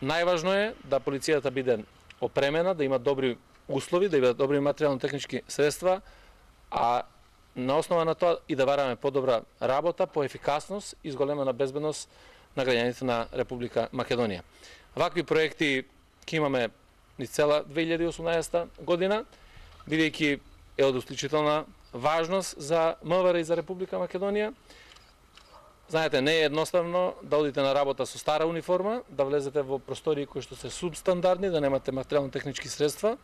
најважно е да полицијата биде опремена, да има добри услови, да има добри материјално-технички средства, а на основа на тоа и да бараме подобра работа, поефикасност и зголемена безбедност на граѓаните на Република Македонија. Вакви проекти ќе имаме низ цела 2018 година, бидејќи е од исклучителна важност за МВР и за Република Македонија. Знаете, не е едноставно да одите на работа со стара униформа, да влезете во простории кои што се субстандардни, да немате материјално-технички средства.